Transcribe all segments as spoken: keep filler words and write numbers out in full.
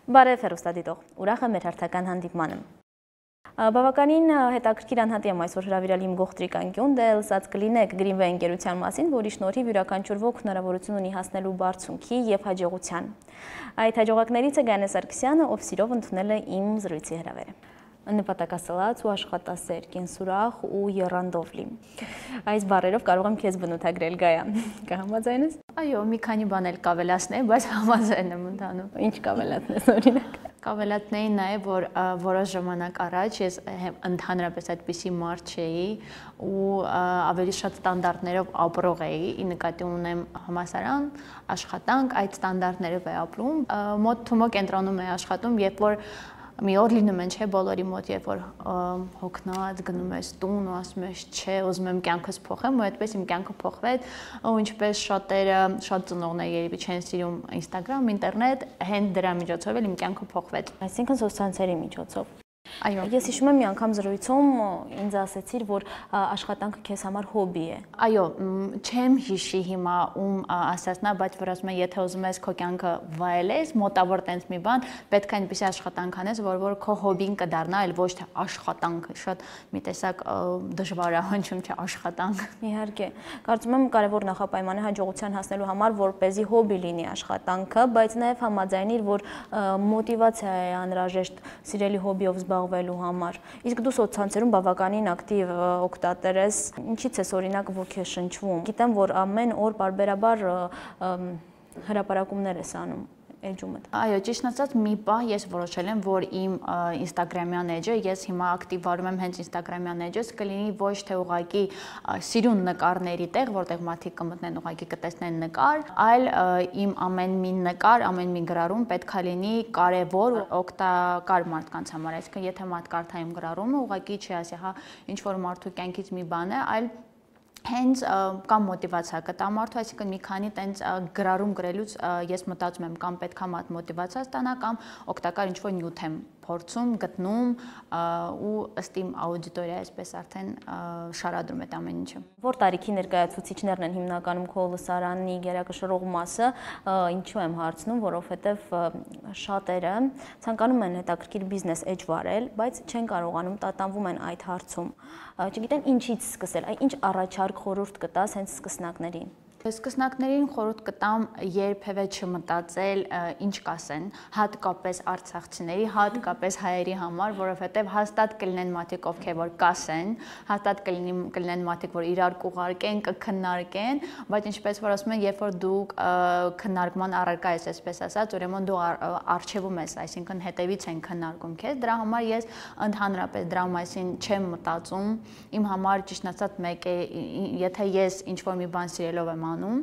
Բարև հեռուստադիտող, ուրախ եմ մեր հերթական հանդիպմանը։ Բավականին հետաքրքիր անհատի եմ այսօր հրավիրել իմ գողտրիկ անկյուն, դե լսած կլինեք Greenway ընկերության մասին, որի շնորհիվ յուրաքանչյուր ոք հնարավորություն ունի հասնելու բարձունքի եւ հաջողության։ Այդ հաջողակներից է Գայանե Սարգսյանը, ով սիրով ընդունել է իմ զրույցի հրավերը։ Նպատակասլաց ու աշխատասեր, կենսուրախ ու եռանդով լի։ Այս բառերով կարող եմ քեզ բնութագրել, Գայան։ Կհամաձայնես։ Այո, մի քանի բան էլ կավելացնեի, բայց համաձայն եմ ընդհանուր։ Ինչ կավելացնես օրինակ։ Կավելացնեի նաև, որ որոշ ժամանակ առաջ ես ընդհանրապես այդպիսի մարդ չէի ու ավելի շատ ստանդարտներով ապրող էի, ի նկատի ունեմ համալսարան, աշխատանք, այդ ստանդարտներով է ապրում, մոտ թումո կենտրոնում է աշխատում, երբ որ մի օր լինում են, չէ, բոլորի մոտ, երբ որ հոգնած գնում ես տուն ու ասում ես, չէ, ուզում եմ կյանքս փոխեմ, ու այդպես իմ կյանքը փոխվեց, ու ինչպես շատերը, շատ ծնողներ երևի չեն սիրում Instagram, ինտերնետ, հենց դրա միջոցով էլ իմ կյանքը փոխվեց։ Այսինքն սոցցանցերի միջոցով։ Այո։ Ես հիշում եմ մի անգամ զրույցում ինձ ասեցիր, որ աշխատանքը քեզ համար հոբի է։ Այո, չեմ հիշի հիմա ում ասածնա, բայց որ ասում եմ, եթե ուզում ես քո կյանքը վայելես, մոտավոր տենց մի բան, պետք է այնպիսի աշխատանք անես, որ որ քո հոբին կդառնա, այլ ոչ թե աշխատանք, շատ մի տեսակ դժվար է հնչում, չէ, աշխատանք։ Իհարկե, կարծում եմ կարևոր նախապայման է հաջողության հասնելու համար, որպեսզի հոբի լինի աշխատանքը, բայց նաև համաձայնիր, որ մոտիվացիա է անհրաժեշտ սիրելի հոբիով զբաղվելու համար։ Իսկ դու սոցցանցերում բավականին ակտիվ օգտատեր ես, ինչից ես օրինակ ոգեշնչվում։ Գիտեմ, որ ամեն օր պարբերաբար հրապարակումներ ես անում էջումդ։ Այո, ճիշտն ասած, մի պահ ես որոշել եմ, որ իմ Instagram-յան էջը, ես հիմա ակտիվարում եմ հենց Instagram-յան էջս, կլինի ոչ թե ուղղակի սիրուն նկարների տեղ, որտեղ մարդիկ կմտնեն ուղղակի կտեսնեն նկար, այլ իմ ամեն մի նկար, ամեն մի գրառում պետք է լինի կարևոր ու օգտակար մարդկանց համար, այսինքն եթե մարդ կարդա իմ գրառումը, ուղղակի չի ասի, հա, ինչ որ մարդու կյանքից մի բան է, այլ հենց կամ մոտիվացիա կտա մարդու, այսինքն մի քանի տենց գրառում գրելուց ես մտածում եմ կամ պետքա մատ մոտիվացիա ստանա կամ օգտակար ինչ-որ նյութ եմ փորձում, գտնում ու ըստ իմ աուդիտորիա այսպես արդեն շարադրում այդ ամեն ինչը։ Որ տարիքի ներկայացուցիչներն են հիմնականում քո լսարանի գերակշռող մասը, ինչու եմ հարցնում, որովհետև շատերը ցանկանում են հետաքրքիր բիզնես էջ վարել, բայց չեն կարողանում, տատանվում են այդ հարցում։ Չգիտեն ինչից սկսել, ինչ առաջարկ խորհուրդ կտաս հենց սկսնակներին։ Սկսնակներին խորհուրդ կտամ երբևէ չմտածել ինչ կասեն, հատկապես արցախցիների, հատկապես հայերի համար, որովհետև հաստատ կլինեն մարդիկ, ովքեր որ կասեն, հաստատ կլինեն մարդիկ, որ իրար կուղարկեն, կքննարկեն, բայց ինչպես որ ասում են, երբ որ դու քննարկման առարկա ես, այսպես ասած, ուրեմն դու արժևում ես, այսինքն հետևից են քննարկում քեզ, դրա համար ես ընդհանրապես դրա մասին չեմ մտածում, իմ համար ճիշտ ասած մեկ է, եթե ես ինչ-որ մի բան սիրելով եմ անում,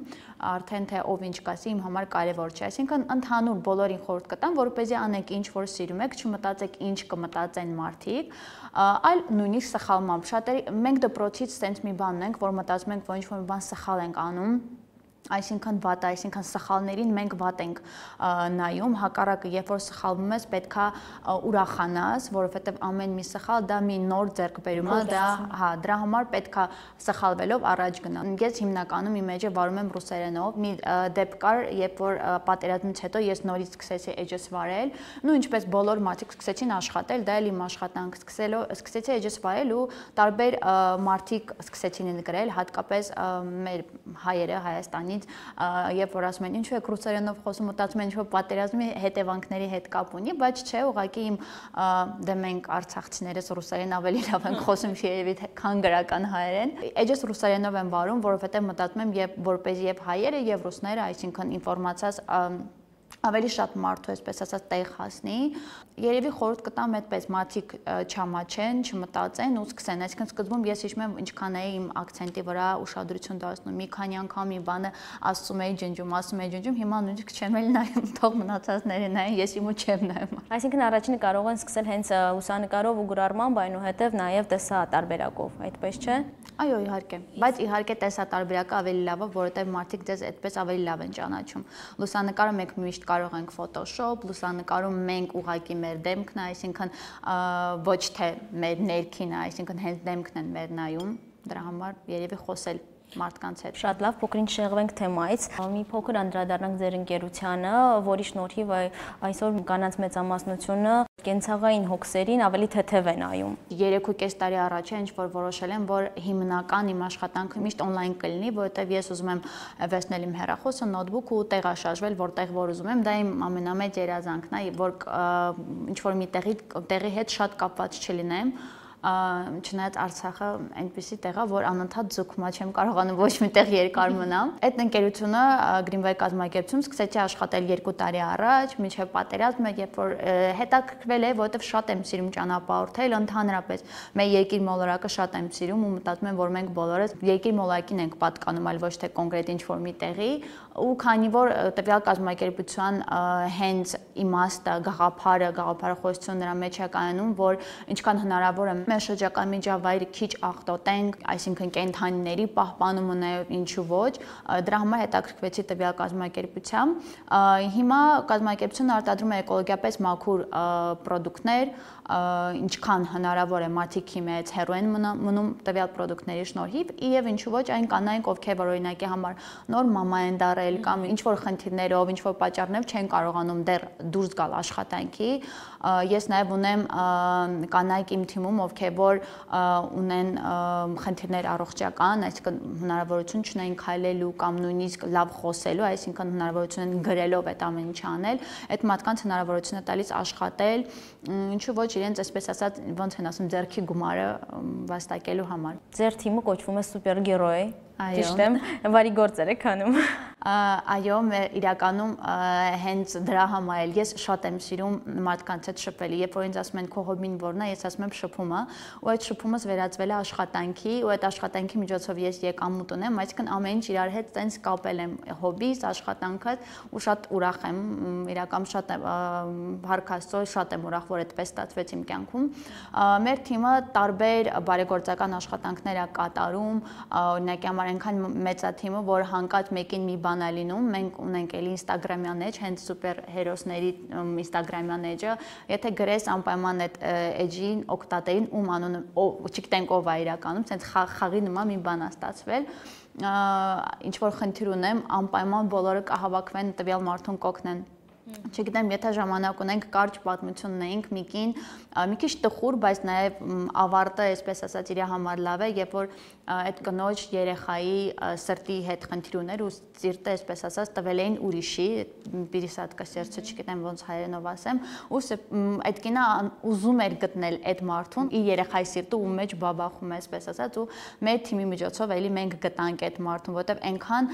արդեն թե ով ինչ կասի իմ համար կարևոր չէ, այսինքն ընդհանուր բոլորին խորհուրդ կտամ, որպեսզի անեք ինչ որ սիրում եք, չմտածեք ինչ կմտածեն մարդիկ, այլ նույնիսկ սխալմամբ, շատերի մենք դպրոցից sense մի բան ունենք, որ մտածում ենք, որ ինչ որ մի բան սխալ ենք անում, այսինքն վատ, այսինքն սխալներին մենք վատ ենք նայում, հակառակը, երբ որ սխալվում ես, պետքա ուրախանաս, որովհետև ամեն մի սխալ դա մի նոր ձեռքբերում է, դա, հա, դրա համար պետքա սխալվելով առաջ գնալ։ Ես հիմնականում իմ էջը վարում եմ ռուսերենով, մի դեպք կար, երբ որ պատերազմից հետո ես նորից սկսեցի էջս վարել, ու ինչպես բոլոր մարդիկ սկսեցին աշխատել, դա էլ իմ աշխատանք սկսելով, սկսեցի էջս վարել ու տարբեր մարդիկ սկսեցին գրել, հատկապես մեր հայերը Հայաստանի երբ որ ասում են ինչու եք ռուսերենով խոսում, մտածում են ինչ-որ պատերազմի հետևանքների հետ կապ ունի, բայց չէ, ուղղակի իմ դե մենք արցախցիներս ռուսերեն ավելի լավ ենք խոսում, երևի քան գրական հայերեն։ Էջս ռուսերենով եմ վարում, որովհետև մտածում եմ, երբ որպեսզի եւ հայերը եւ ռուսները, այսինքն ինֆորմացիաս ավելի շատ մարդու, այսպես ասած, տեղ հասնի, երևի խորհուրդ կտամ այդպես մարդիկ չամաչեն, չմտածեն ու սկսեն, այսինքն սկզբում ես հիշում եմ ինչքան էի իմ ակցենտի վրա ուշադրություն դարձնում, մի քանի անգամ մի բանը ասում էի ջնջում, ասում էի ջնջում, հիմա նույնիսկ չեմ էլ նայում, թող մնացածները նայեն, ես իմու չեմ նայում։ Այսինքն առաջինը կարող են սկսել հենց լուսանկարով ու գրառմամբ, այնուհետև նաև տեսատարբերակով, այդպես չէ։ Այո, իհարկե, բայց իհարկե տեսատարբերակը ավելի լավ է, որովհետև մարդիկ ձեզ այդպես ավելի լավ են ճանաչում։ Լուսանկարը մենք միշտ կարող ենք Photoshop, լուսանկարում մենք ուղղակի մեր դեմքն է, այսինքն ոչ թե մեր ներքինը, այսինքն հենց դեմքն են մեր նայում, դրա համար երևի խոսել մարդկանց հետ։ Շատ լավ, փոքրինչ շեղվենք թեմայից։ Մի փոքր անդրադառնանք ձեր ընկերությանը, որի շնորհիվ այսօր կանանց մեծամասնությունը կենցաղային հոգսերին ավելի թեթև են նայում։ Երեք ու կես տարի առաջ է ինչ որ որոշել եմ, որ հիմնական իմ աշխատանքը միշտ on-line կլինի, որովհետև ես ուզում եմ վերցնել իմ հեռախոսը, նոթբուք ու տեղաշարժվել, որտեղ որ ուզում եմ, դա իմ ամենամեծ երազանքն է, որ ինչ որ մի տեղի տեղի հետ շատ կապված չլինեմ։ Չնայած Արցախը այնպեսի տեղ է, որ անընդհատ ձգում է, չեմ կարողանում ոչ միտեղ երկար մնամ։ Այդ ընկերությունը Greenway կազմակերպություն սկսեցի աշխատել երկու տարի առաջ, մինչև պատերազմը, երբ որ հետաքրքրվել է, որովհետև շատ եմ սիրում ճանապարհորդել, ընդհանրապես մեր երկիր մոլորակը շատ եմ սիրում ու մտածում եմ, որ մենք բոլորս երկիր մոլորակին ենք պատկանում, այլ ոչ թե կոնկրետ ինչ-որ մի տեղի, ու քանի որ տվյալ կազմակերպության հենց իմաստը, գաղափարը, գաղափարախոսությունը նրա մեջ է կայանում, որ ինչքան հնարավոր է մեր շրջակա միջավայրը քիչ աղտոտենք, այսինքն կենդանիների պահպանումը նաև ինչու ոչ, դրա համար հետաքրքրվեցի տվյալ կազմակերպությամբ։ Հիմա կազմակերպությունը արտադրում է էկոլոգիապես մաքուր պրոդուկտներ, ինչքան հնարավոր է մարդիկ մեծ հեռու են մնում տվյալ պրոդուկտների շնորհիվ, եւ ինչու ոչ այն կանայք, ովքեր որ օրինակի համար նոր մամա են դառել կամ ինչ որ խնդիրներով, ինչ որ պատճառներով չեն կարողանում դեռ դուրս գալ աշխատանքի։ Ես նաև ունեմ կանայք իմ թիմում, ովքեր որ ունեն խնդիրներ առողջական, այսինքն հնարավորություն չունեն քայլելու կամ նույնիսկ լավ խոսելու, այսինքն հնարավորություն են գրելով այդ ամեն ինչը անել, այդ մարդկանց հնարավորություն է տալիս աշխատել, ինչու ոչ իրենց այսպես ասած ոնց են ասում ձեռքի գումարը վաստակելու համար։ Ձեր թիմը կոչվում է Սուպերգերոյ։ Այո։ Ճիշտ եմ, բարի գործեր եք անում։ Այո, իրականում հենց դրա համար էլ ես շատ եմ սիրում մարդկանց հետ շփվել։ Երբ որ ինձ ասում են քո հոբին որն է, ես ասում եմ շփումը, ու այդ շփումս վերածվել է աշխատանքի, ու այդ աշխատանքի միջոցով ես եկամուտ ունեմ, այսինքն ամեն ինչ իրար հետ տենց կապել եմ հոբիս, աշխատանքս, ու շատ ուրախ եմ, իրականում շատ հարկ Աստծո, շատ եմ ուրախ, որ այդպես ստացվեց իմ կյանքում։ Մեր թիմը տարբեր բարեգործական աշխատանքներ է կատարում, օրինակի համար այնքան մեծ է թիմը, որ հանկարծ մեկին մի բան է լինում, մենք ունենք էլի Instagram-յան էջ, հենց սուպեր հերոսների Instagram-յան էջը, եթե գրես անպայման այդ էջին օգտատերին ում անունը, չգիտենք ով է իրականում, ցենց խաղի նման մի բան է ստացվել, ինչ որ խնդիր ունեմ, անպայման բոլորը կհավաքվեն տվյալ մարդուն կօգնեն։ Չգիտեմ, եթե ժամանակ ունենք, կարճ պատմություն ունենք միկին, մի քիչ տխուր, բայց նաև ավարտը, այսպես ասած, իր համար լավ է, երբ որ այդ կնոջ երեխայի սրտի հետ խնդիր ուներ ու սիրտը, այսպես ասած, տվել էին ուրիշի, պիրիսատկա սերցը, չգիտեմ ոնց հայերենով ասեմ, ու այդ կինը ուզում էր գտնել այդ մարդուն, իր երեխայի սիրտը ու մեջ բաբախում է, այսպես ասած, ու մեր թիմի միջոցով էլի մենք գտանք այդ մարդուն, որովհետև այնքան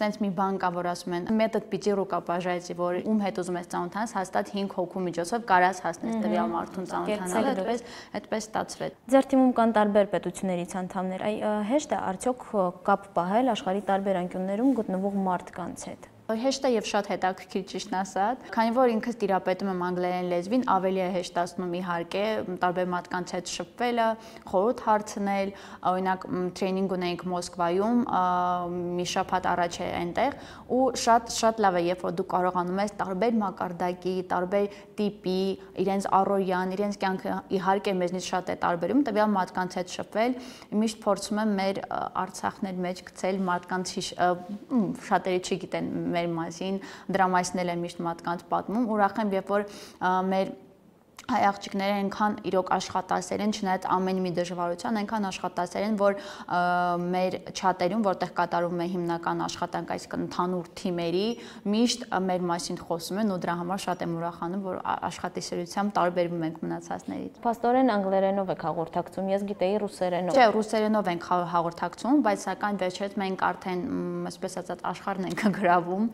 տենց մի բան կա, որ ասում են, մեթոդ պիտի ռուկապաժայցի, որ ում հետ ուզում ես ծանոթանաս, հաստատ հինգ հոգու միջոցով կարաս հասնես տվյալ մարդուն ծանոթանալ, այդպես այդպես ստացվեց։ Ձեր թիմում կան տարբեր պետություններից անդամներ, այ հեշտ է արդյոք կապ պահել աշխարհի տարբեր անկյուններում գտնվող մարդկանց հետ։ Հեշտ է եւ շատ հետաքրքիր ճիշտն ասած, քանի որ ինքս տիրապետում եմ անգլերեն լեզվին, ավելի է հեշտացնում իհարկե տարբեր մարդկանց հետ շփվելը, խորհուրդ հարցնել, օրինակ տրեյնինգ ունենք Մոսկվայում, մի շաբաթ առաջ է այնտեղ, ու շատ շատ լավ է, երբ որ դու կարողանում ես տարբեր մակարդակի, տարբեր տիպի, իրենց առօրյան, իրենց կյանքը իհարկե մեզնից շատ է տարբերում, տվյալ մարդկանց հետ շփվել, միշտ փորձում եմ մեր Արցախներ մեջ գցել մարդկանց շատերը չգիտեն մեր մասին, դրա մասին էլ եմ միշտ մարդկանց պատմում, ուրախ եմ, երբ որ մեր հայ աղջիկները այնքան իրոք աշխատասեր են, չնայած ամեն մի դժվարության, այնքան աշխատասեր են, որ մեր չաթերում, որտեղ կատարվում է հիմնական աշխատանք, այսինքն ընդհանուր թիմերի, միշտ մեր մասին խոսում են ու դրա համար շատ եմ ուրախանում, որ աշխատասիրությամբ տարբերվում ենք մնացածներից։ Փաստորեն անգլերենով եք հաղորդակցում, ես գիտեի ռուսերենով։ Չէ, ռուսերենով ենք հաղորդակցում, բայց սակայն վերջերս մենք արդեն, այսպես ասած, աշխարհն ենք գրավում,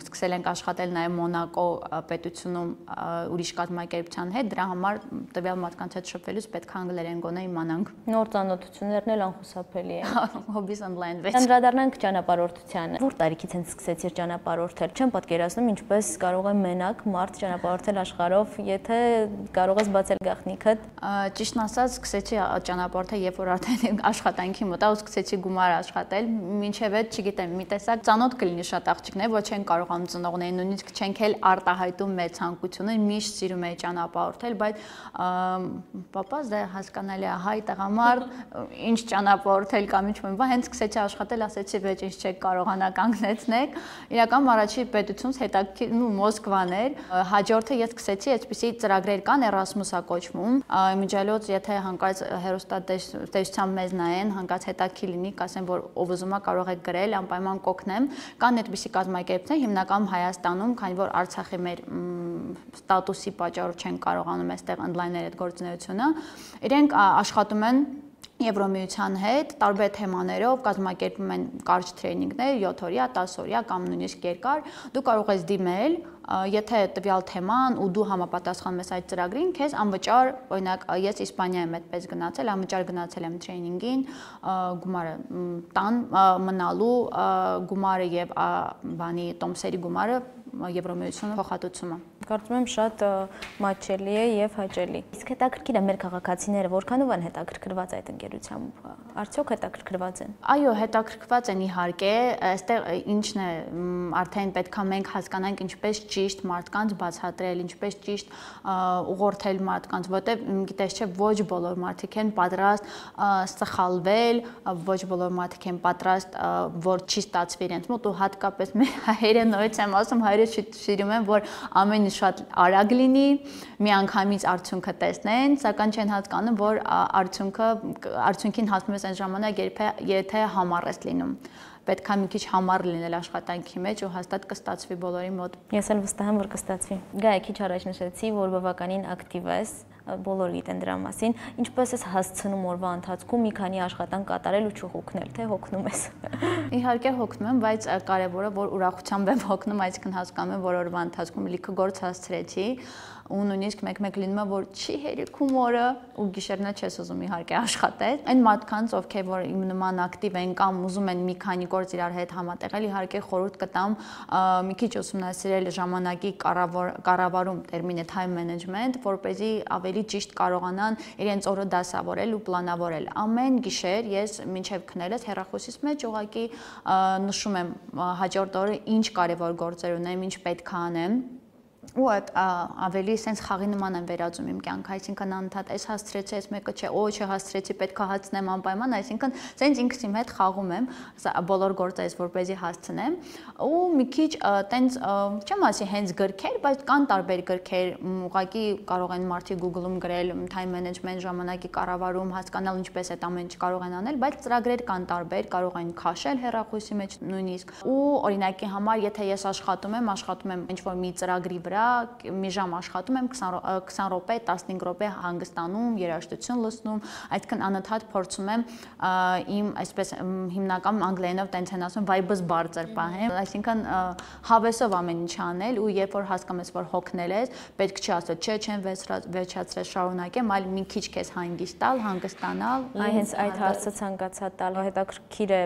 սկսել ենք աշխատել նաև Մոնակո պետությունում ուրիշ կազմակերպության հետ, դրա համար տվյալ մարդկանց հետ շփվելուց պետք է անգլերեն գոնե իմանանք։ Նոր ծանոթություններն էլ անխուսափելի են։ Hobbies and language։ Անդրադառնանք ճանապարհորդությանը։ Որ տարիքից են սկսեցիր ճանապարհորդել։ Չեմ պատկերացնում ինչպես կարող է մենակ մարդ ճանապարհորդել աշխարհով, եթե կարող ես բացել գաղտնիքդ։ Ճիշտն ասած, սկսեցի ճանապարհորդել, երբ որ արդեն աշխատանքի մտա ու սկսեցի գումար աշխատել, մինչև այդ, չգիտեմ, մի տեսակ ծանոթ կլինի շատ աղջիկներ, ոչ են կարողանում ծնողներին, նույնիսկ չենք էլ արտահայտում մեր ցանկությունը, միշտ սիրում մեջ ճանապարհորդել, բայց պապաս դա հասկանալի է, հայ տղամարդ, ինչ ճանապարհորդել կամ ինչ մի բան, հենց սկսեցի աշխատել, ասեցի, վեճ ինչ չեք կարողանա կանգնեցնեք։ Իրական առաջի պետությունց հետաքրքիր ու Մոսկվան էր։ Հաջորդը ես սկսեցի այսպիսի ծրագրեր կան, Erasmus-ա կոչվում։ Միջալոց, եթե հանկարծ հեռուստատեսությամբ մեզ նայեն, հանկարծ հետաքրքիր լինի, կասեն, որ ով ուզում է կարող է գրել, անպայման կօգնեմ։ Կան այդպիսի կազմակերպություններ, հիմնականում Հայաստանում, քանի որ Արցախի մեր ստատուսի պատճառով չեն կարողանում այստեղ ընդլայնել այդ գործունեությունը, իրենք աշխատում են Եվրոմիության հետ տարբեր թեմաներով կազմակերպում են կարճ տրեյնինգներ, յոթ օրյա, տասը օրյա կամ նույնիսկ երկար, դու կարող ես դիմել, եթե տվյալ թեման ու դու համապատասխանում ես այդ ծրագրին, քեզ անվճար, օրինակ, ես Իսպանիա եմ այդպես գնացել, անվճար գնացել եմ տրեյնինգին, գումարը տան մնալու գումարը եւ բանի տոմսերի գումարը Եվրոմիությունը փոխհատուցումը։ Կարծում եմ շատ մատչելի է եւ հաճելի։ Իսկ հետաքրքիր է մեր քաղաքացիները որքանով են հետաքրքրված այդ ընկերությամբ, արդյոք հետաքրքրված են։ Այո, հետաքրքրված են իհարկե, այստեղ ինչն է, արդեն պետքա մենք հասկանանք ինչպես ճիշտ մարդկանց բացատրել, ինչպես ճիշտ ուղղորդել մարդկանց, որտեղ գիտես չէ, ոչ բոլոր մարդիկ են պատրաստ սխալվել, ոչ բոլոր մարդիկ են պատրաստ, որ չի ստացվի իրենց մոտ ու հատկապես մեր հայերը նորից եմ ասում, հայերը սիրում են, որ ամեն շատ արագ լինի, միանգամից արդյունքը տեսնեն, սակայն չեն հասկանում, որ արդյունքը արդյունքին հասնում ես այն ժամանակ, եթե համառ ես լինում։ Պետք է մի քիչ համառ լինել աշխատանքի մեջ ու հաստատ կստացվի բոլորի մոտ։ Ես էլ վստահ եմ, որ կստացվի։ Գայ, քիչ առաջ նշեցի, որ բավականին ակտիվ ես, բոլորը գիտեն դրա մասին։ Ինչպես ես հասցնում օրվա ընթացքում մի քանի աշխատանք կատարել ու չհոգնել, թե հոգնում ես։ Իհարկե հոգնում եմ, բայց կարևորը որ ուրախությամբ եմ հոգնում, այսինքն հասկանում եմ, որ օրվա ընթացքում լիքը գործ հասցրեցի ու նույնիսկ մեկ-մեկ լինում է, որ չի հերիքում օրը ու գիշերնա չես ուզում իհարկե աշխատել։ Այն մարդկանց, ովքեր որ իմ նման ակտիվ են կամ ուզում են մի քանի գործ իրար հետ համատեղել, իհարկե խորհուրդ կտամ մի քիչ ուսումնասիրել ժամանակի կառավարում, տերմինը time management, որպեսզի ավելի ճիշտ կարողանան իրենց օրը դասավորել ու պլանավորել։ Ամեն գիշեր ես մինչև քնելս հեռախոսիս մեջ ուղղակի նշում եմ հաջորդ օրը ինչ կարևոր գործեր ունեմ, ինչ պետք է անեմ։ Ու այդ ավելի sense խաղի նման եմ վերածում իմ կյանքը, այսինքն անընդհատ այս հասցրեցի, այս մեկը չէ, օ, չհասցրեցի, պետք է հասցնեմ անպայման, այսինքն sense ինքս իմ հետ խաղում եմ բոլոր գործերս, որպեսզի հասցնեմ, ու մի քիչ տենց չեմ ասի հենց գրքեր, բայց կան տարբեր գրքեր, ուղղակի կարող են մարդիկ Google-ում գրել time management, ժամանակի կառավարում, հասկանալ ինչպես այդ ամեն ինչ կարող են անել, բայց ծրագրեր կան տարբեր, կարող են քաշել հեռախոսի մեջ նույնիսկ։ Ու օրինակի համար, եթե ես աշխատում եմ, աշխատում եմ ինչ-որ մի ծրագրի վրա, մի ժամ աշխատում եմ, քսան րոպե, տասնհինգ րոպե հանգստանում, երաժշտություն լսնում, այսինքն անընդհատ փորձում եմ իմ այսպես հիմնական անգլերենով տենց են ասում vibe-ս բարձր պահեմ, այսինքն հավեսով ամեն ինչ անել ու երբ որ հասկանում ես, որ հոգնել ես, պետք չի ասել, չէ, չեմ վերջացրել, շարունակեմ, այլ մի քիչ քեզ հանգիստ տալ, հանգստանալ։ Այ հենց այդ հարցը ցանկացա տալ, հետաքրքիր է,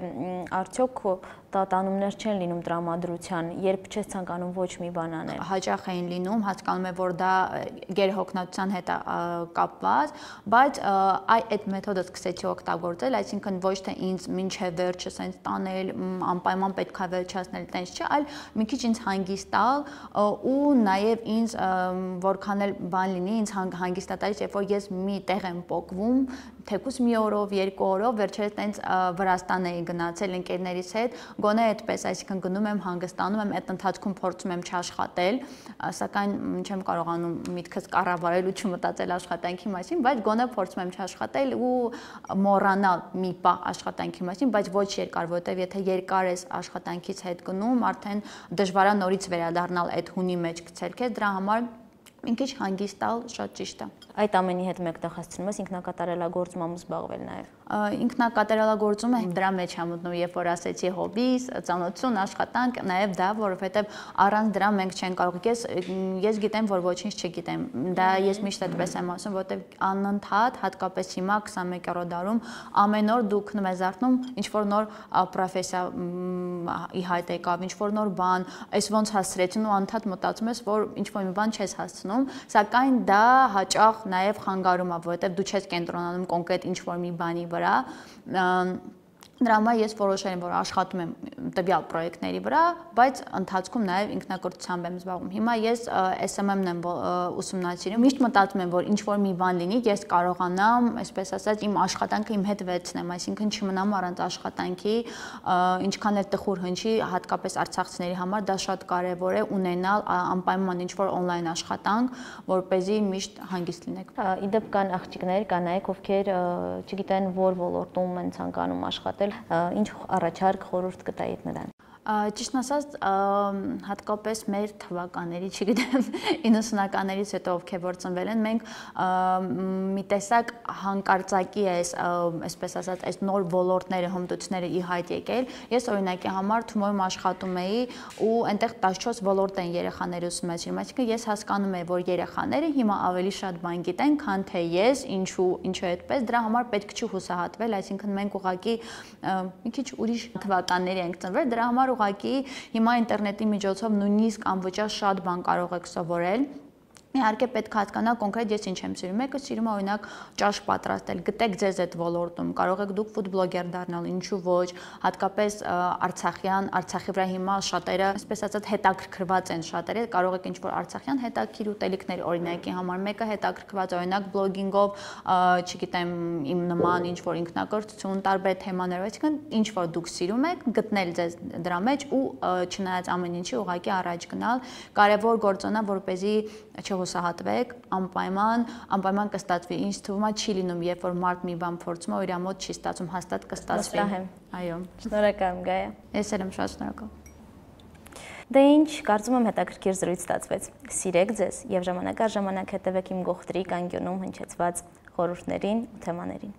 արդյոք տատանումներ չեն լինում տրամադրության, երբ չես ցանկանում ոչ մի բան անել։ Հաճախ էին լինում, հասկանում եմ, որ դա գերհոգնածության հետ է կապված, բայց այ այդ մեթոդը սկսեցի օգտագործել, այսինքն ոչ թե ինձ մինչև վերջը սենց տանել, անպայման պետք է վերջացնել, տենց չէ, այլ մի քիչ ինձ հանգիստ տալ ու նաև ինձ որքան էլ բան լինի, ինձ հանգստատալիս, երբ որ ես մի տեղ եմ պոկվում, թեկուզ մի օրով, երկու օրով, վերջերս տենց Վրաստան էի գնացել ընկերներիս հետ, գոնե այդպես, այսինքն գնում եմ, հանգստանում եմ, այդ ընթացքում փորձում եմ չաշխատել, սակայն չեմ կարողանում միտքս կառավարել ու չմտածել աշխատանքի մասին, բայց գոնե փորձում եմ չաշխատել ու մոռանալ մի պահ աշխատանքի մասին, բայց ոչ երկար, որովհետև եթե երկար ես աշխատանքից հետ գնում, արդեն դժվար է նորից վերադառնալ այդ հունի մեջ գցել քեզ, դրա համար մի քիչ հանգիստ տալ շատ ճիշտ է։ Այդ ամենի հետ մեկտեղ հասցնում ես ինքնակատարելագործմամբ զբաղվել նաև։ Ինքնակատարելագործումը դրա մեջ է մտնում, երբ որ ասեցի հոբիս, ծանոթություն, աշխատանք, նաև դա, որովհետև առանց դրա մենք չենք կարող։ Ես ես գիտեմ, որ ոչինչ չգիտեմ։ Դա ես միշտ այդպես եմ ասում, որովհետև անընդհատ, հատկապես հիմա քսանմեկերորդ դարում ամեն օր դու քնում ես արթնում, ինչ որ նոր պրոֆեսիա ի հայտ եկավ, ինչ որ նոր բան, այս ոնց հասցրեցին ու անընդհատ մտածում ես, որ ինչ որ մի բան չես հասցնում, սակայն դա հաճախ նաև խանգարում է, որովհետև դու չես կենտրոնանում կոնկրետ ինչ որ մի բանի վրա, Դրա համար ես որոշել եմ, որ աշխատում եմ տվյալ պրոյեկտների վրա, բայց ընթացքում նաև ինքնակրթությամբ եմ զբաղվում։ Հիմա ես S M M-ն եմ ուսումնասիրում, միշտ մտածում եմ, որ ինչ որ մի բան լինի, ես կարողանամ, այսպես ասած, իմ աշխատանքը իմ հետ վերցնեմ, այսինքն չմնամ առանց աշխատանքի, ինչքան էլ տխուր հնչի, հատկապես արցախցիների համար դա շատ կարևոր է ունենալ անպայման ինչ որ on-line աշխատանք, որպեսզի միշտ հանգիստ լինեք։ Իդեպ կան աղջիկներ, կանայք, ովքեր չգիտեն որ ոլորտում են ցանկանում աշխատել, ինչ առաջարկ խորհուրդ կտայիք նրան։ Ճիշտ ասած, հատկապես մեր թվականների, չգիտեմ, իննսունականներից հետո ովքեր որ ծնվել են, մենք մի տեսակ հանկարծակի է, այսպես ասած, այս նոր ոլորտները, հմտությունները ի հայտ եկել։ Ես օրինակի համար Թումոյում աշխատում էի ու այնտեղ տասնչորս ոլորտ են երեխաները ուսումնասիրում, այսինքն ես հասկանում եմ, որ երեխաները հիմա ավելի շատ բան գիտեն, քան թե ես, ինչու, ինչու այդպես, դրա համար պետք չի հուսահատվել, այսինքն մենք ուղղակի մի քիչ ուրիշ թվականների ենք ծնվել, դրա համար ուղղակի հիմա ինտերնետի միջոցով նույնիսկ անվճար շատ բան կարող եք սովորել։ Իհարկե պետք է հասկանալ կոնկրետ ես ինչ եմ սիրում։ Մեկը սիրում է օրինակ ճաշ պատրաստել, գտեք ձեզ այդ ոլորտում, կարող եք դուք ֆուդ բլոգեր դառնալ, ինչու ոչ, հատկապես արցախյան, Արցախի վրա հիմա շատերը, այսպես ասած, հետաքրքրված են շատերը, կարող եք ինչ-որ արցախյան հետաքրքիր ուտելիքներ օրինակի համար, մեկը հետաքրքրված օրինակ բլոգինգով, չգիտեմ, իմ նման ինչ-որ ինքնակրթություն, տարբեր թեմաներով, այսինքն ինչ-որ դուք սիրում եք, գտնել ձեզ դրա մեջ ու չնայած ամեն ինչի ուղղակի առաջ գնալ, կարևոր գործոնա, որպեսզի չհուսահատվեք, անպայման, անպայման կստացվի։ Ինչ թվում է չի լինում, երբ որ մարդ մի բան փորձում է, իր մոտ չի ստացվում, հաստատ կստացվի։ Այո։ Շնորհակալ եմ, Գայա։ Ես էլ եմ շատ շնորհակալ։ Դե ինչ, կարծում եմ հետաքրքիր զրույց ստացվեց։ Սիրեք ձեզ եւ ժամանակ առ ժամանակ հետևեք իմ գողտրի կանգյունում հնչեցված խորհուրդներին ու թեմաներին։